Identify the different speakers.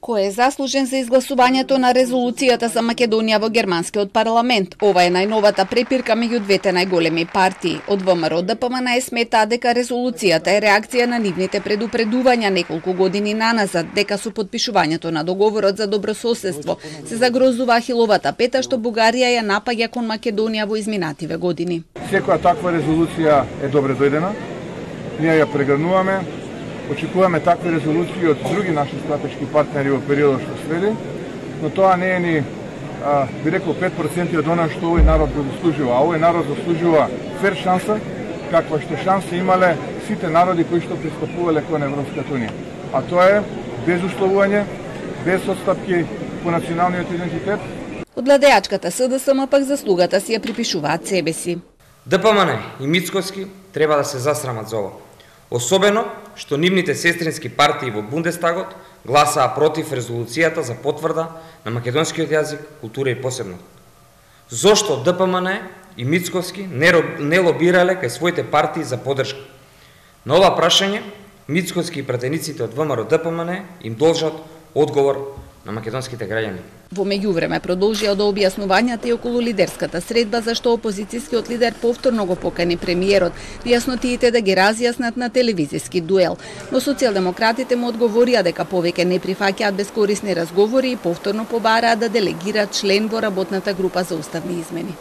Speaker 1: Кој е заслужен за изгласувањето на резолуцијата за Македонија во германскиот парламент? Ова е најновата препирка меѓу двете најголеми партии. Од ВМРО ДПМН сметаа дека резолуцијата е реакција на нивните предупредувања неколку години наназад дека со подпишувањето на договорот за добрососедство се загрозува Ахиловата пета што Бугарија ја напаѓа кон Македонија во изминативе години.
Speaker 2: Секоја таква резолуција е добре дојдена. Ние ја прегрнуваме. Очекуваме такви резолуции од други наши стратешки партнери во периодот што следи, но тоа не е ни, би рекол, 5% од она што овој народ го заслужува. А овој народ заслужува фер шанса, каква што шанса имале сите народи кои што пристапувале кон Европската унија. А тоа е без условување, без отстапки по националниот идентитет.
Speaker 1: Од владеачката СДСМ пак заслугата си ја припишуваат себе си.
Speaker 3: ДПМН и Мицкоски треба да се засрамат за ова. Особено што нивните сестрински партии во Бундестагот гласаа против резолуцијата за потврда на македонскиот јазик, култура и посебност. Зошто ДПМН и Мицковски не лобирале кај своите партии за поддршка? На ова прашање, Мицковски и пратениците од ВМРО ДПМН им должат одговор на македонските граѓани.
Speaker 1: Во меѓувреме продолжија до објаснувањата и околу лидерската средба зашто опозицијскиот лидер повторно го покани премиерот во јаснотиите да ги разјаснат на телевизиски дуел. Но социјалдемократите му одговорија дека повеќе не прифаќаат бескорисни разговори и повторно побараа да делегираат член во работната група за уставни измени.